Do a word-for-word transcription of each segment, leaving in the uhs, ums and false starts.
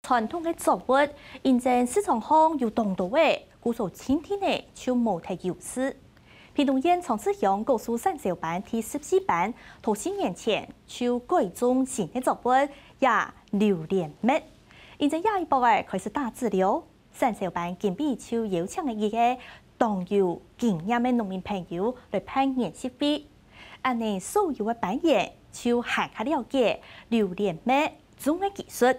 傳統个作物，因為市場項有當多个，故所今天呢就無忒有市。屏東縣長治鄉果樹產銷班第十四班，頭四年前就改種新个作物，也榴槤蜜。因為這一駁仔開始打籽了，產銷班今晡就邀請了一個當有經驗个農民朋友來辦研習會。恁呢所有个班員就還較了解榴槤蜜種个技術。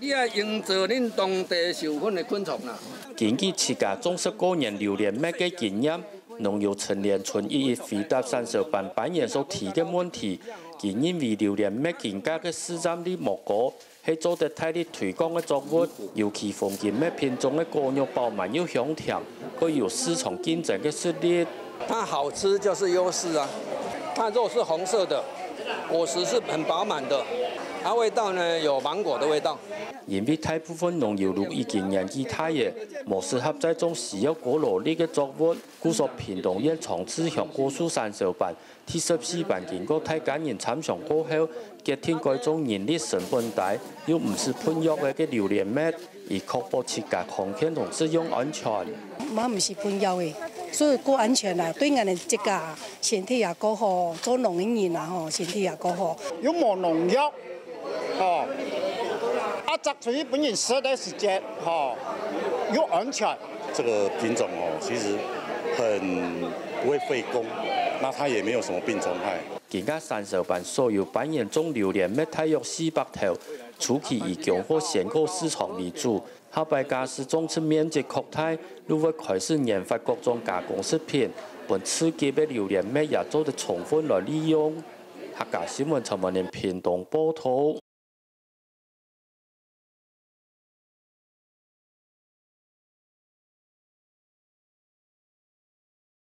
你愛用著恁當地授粉个昆蟲啦。根據自家種植過年榴槤蜜个經驗，農友陳連春一一回答產銷班班員所提个問題。佢認為榴槤蜜今下个市占率無高，係做得大力推廣个作物，尤其黃金蜜品種个果肉飽滿又香甜，較有市場競爭个實力。 它好吃就是優勢啊。它肉是紅色的，果實是很飽滿的，它味道呢有芒果的味道。因為大部分農友都已經年紀大了，無適合再種需要高勞力个作物，故所屏東縣長治鄉果樹產銷班第十四班經過大家人參詳過後，決定改種人力成本低又毋使噴藥个榴槤蜜，以確保自家康健同食用安全。嘛毋係噴藥个，所以較安全啦，對𠊎等自家身體也較好，做農个人啊吼，身體也較好。又無農藥，吼，啊，摘出去分人食个時節，吼，又安全。這個品種哦，其實很不會費工，那它也沒有什麼病蟲害。今下產銷班所有班員種榴槤蜜大約四百頭，初期以供貨鮮果市場為主， 下擺假使種植面積擴大，就會開始研發各種加工食品，分次級个榴槤蜜也做得充分來利用。客家新聞陳文玲屏東報導。